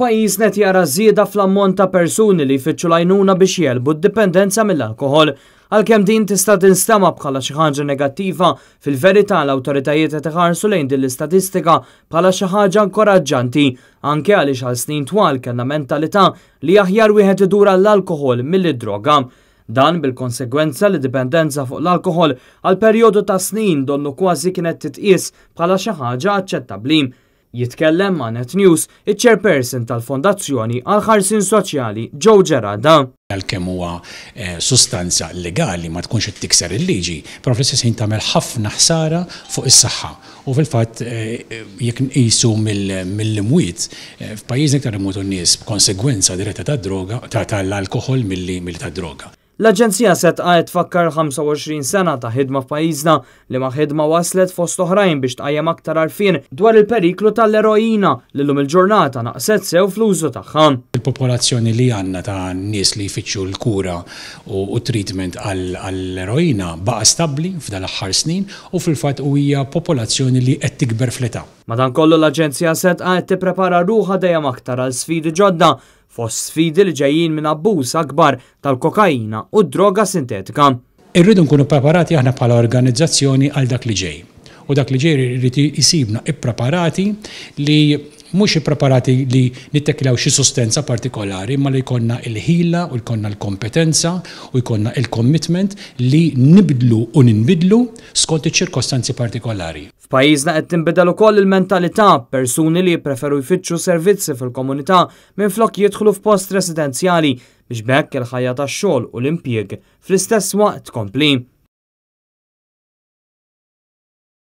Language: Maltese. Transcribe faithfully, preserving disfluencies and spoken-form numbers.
Pajjiżna qed jara żieda fl-ammont ta' persuni li jfittxu l-għajnuna biex jegħlbu d-dipendenza mill-alkoħol. Għalkemm din tista' tinstema' bħala xi ħaġa negattiva, fil-verità l-awtoritajiet qed iħarsu lejn din l-istatistika bħala xi ħaġa inkoraġġanti, anke għaliex għal snin twal kellna mentalità li aħjar wieħed idur għall-alkoħol milli droga. Dan bil-konsegwenza li dipendenza fuq l-alkoħol għal perjodu ta' snin donnu kważi kienet titqies bħala xi ħaġa aċċettabbli. Jitkellem ma' Net News iċ-chairperson tal-Fondazzjoni għal ħarsien Soċjali, Joe Gerada. Għalkemm huwa eh, sustanza legali, ma tkunx qed tikser il-liġi, però fl-istess ħin tagħmel ħafna ħsara fuq is-saħħa. U fil-fatt, eh, jekk nqisu mill-imwiet, eh, f'pajjiżna iktar imutu n-nies b'konsegwenza diretta tad-droga, tal-alkoħol, milli tad-droga. L-Aġenzija Sedqa qed tfakkar ħamsa u għoxrin sena ta' ħidma f'pajjiżna, li ma' ħidma waslet fost oħrajn biex tqajjem aktar għarfien dwar il-periklu tal-eroina li llum il-ġurnata naqset sew fl-użu tagħha. Il-popolazzjoni li għandna ta' nies li jfittxu l-kura u treatment għall-eroina baqa' stabbli f'dal aħħar snin u fil-fatt u hija popolazzjoni li qed tikber fl-età. Madankollu, l-Aġenzija Sedqa qed tipprepara ruħha dejjem aktar għal sfidi ġodda, fost sfidi li ġejjin minn abbuż akbar tal-kokaina u droga sintetika. Irridu nkunu preparati aħna bħala organizzazzjoni għal dak li ġej. U dak li ġej irid isibna ippreparati, li mhux ippreparati li nitteklaw xi sostanza partikolari, ma li jkollna il-ħila u jkollna l-kompetenza u jkollna il-commitment li nibdlu u ninbidlu skont iċ-ċirkostanzi partikolari. F'pajjiżna qed tinbidel ukoll il-mentalità, persuni li jippreferu jfittxu servizzi fil-komunità minflok jidħlu f'post residenzjali biex b'hekk il-ħajja tax-xogħol u l-impjieg fl-istess waqt tkompli.